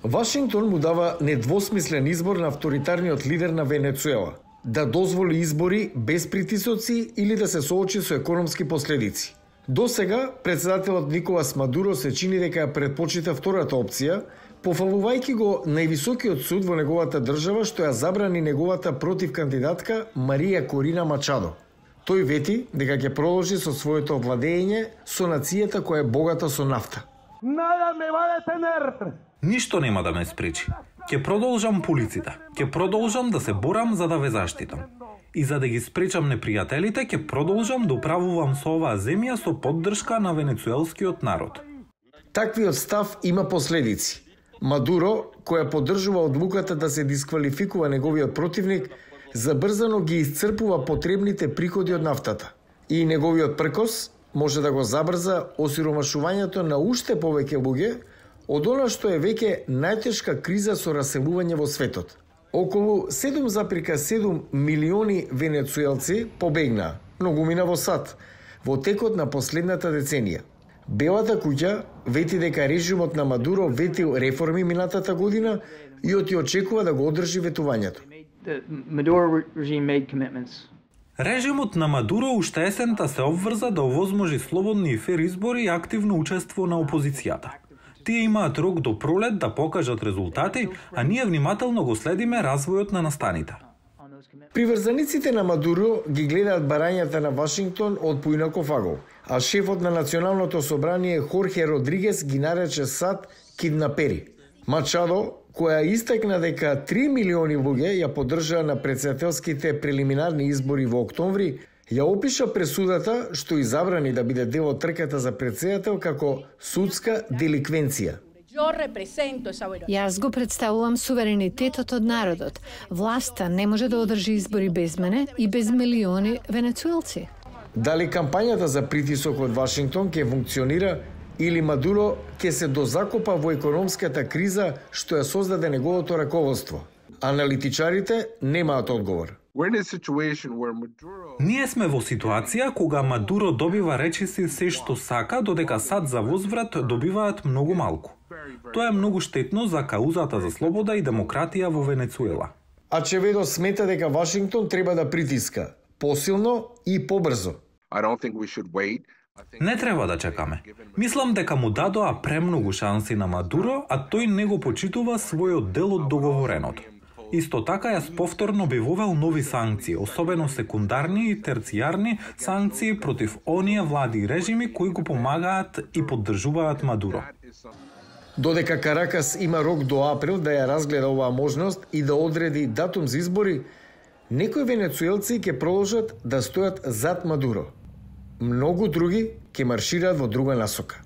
Вашингтон му дава недвосмислен избор на авторитарниот лидер на Венецуела да дозволи избори без притисоци или да се соочи со економски последици. До сега, председателот Николас Мадуро се чини дека ја предпочита втората опција, пофалувајќи го највисокиот суд во неговата држава што ја забрани неговата противкандидатка Марија Корина Мачадо. Тој вети дека ќе продолжи со своето владење со нацијата која е богата со нафта. Ништо нема да ме спречи. Ќе продолжам полиците. Ќе продолжам да се борам за да ве заштитам. И за да ги спречам непријателите, ќе продолжам да управувам со оваа земја со поддршка на венецуелскиот народ. Таквиот став има последици. Мадуро, која поддржува одлуката да се дисквалификува неговиот противник, забрзано ги исцрпува потребните приходи од нафтата. И неговиот пркос може да го забрза осиромашувањето на уште повеќе луѓе од она што е веќе најтешка криза со раселување во светот. Околу 7,7 милиони венецуелци побегнаа, многумина во САД, во текот на последната деценија. Белата куќа вети дека режимот на Мадуро ветил реформи минатата година и очекува да го одржи ветувањето. Режимот на Мадуро уште есента се обврза да овозможи слободни и фер избори и активно учество на опозицијата. Тие имаат рок до пролет да покажат резултати, а ние внимателно го следиме развојот на настаните. Приврзаниците на Мадуро ги гледаат барањата на Вашингтон од поинаков агол, а шефот на Националното собрание Хорхе Родригес ги нарече САД киднапери. Мачадо, која истакна дека 3 милиони луѓе ја поддржаа на претседателските прелиминарни избори во октомври, ја опиша пресудата што и забрани да биде дел од трката за претседател како судска деликвенција. Јас го представувам суверенитетот од народот. Власта не може да одржи избори без мене и без милиони венецуелци. Дали кампањата за притисок од Вашингтон ќе функционира или Мадуро ќе се дозакопа во економската криза што ја создаде неговото раководство? Аналитичарите немаат одговор. Ние сме во ситуација кога Мадуро добива речиси се што сака, додека САД за возврат добиваат многу малку. Тоа е многу штетно за каузата за слобода и демократија во Венецуела. Ачеведо смета дека Вашингтон треба да притиска посилно и побрзо. Не треба да чекаме. Мислам дека му дадоа премногу шанси на Мадуро, а тој не го почитува својот дел од договореното. Исто така јас повторно би вовел нови санкции, особено секундарни и терцијарни санкции против оние влади и режими кои го помагаат и поддржуваат Мадуро. Додека Каракас има рок до април да ја разгледа оваа можност и да одреди датум за избори, некои венецуелци ќе продолжат да стојат зад Мадуро. Многу други ќе маршираат во друга насока.